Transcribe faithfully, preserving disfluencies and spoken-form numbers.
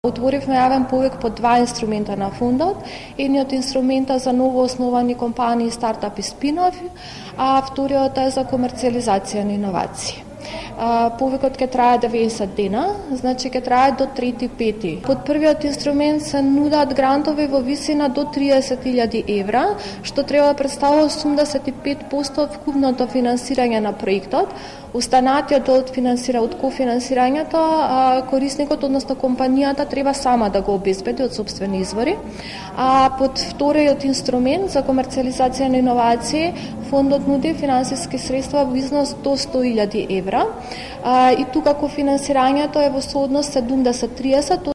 Отворивме јавен повик по два инструмента на фондот. Едниот инструмента за ново основани компании, стартапи, спин-офф, а вториот е за комерцијализација на иновации. Повикот ќе трае деветдесет дена, значи ќе трае до трети пети. Под првиот инструмент се нудат грантови во висина до триесет илјади евра, што треба да представува осумдесет и пет проценти од вкупното финансирање на проектот. Останатиот од финансира од кофинансирањето, корисникот, односно компанијата, треба сама да го обезбеди од сопствени извори. А под вториот инструмент за комерцијализација на иновации, фондот нуди финансиски средства во износ до сто илјади евра. И тука кофинансирањето е во сооднос седумдесет тридесет,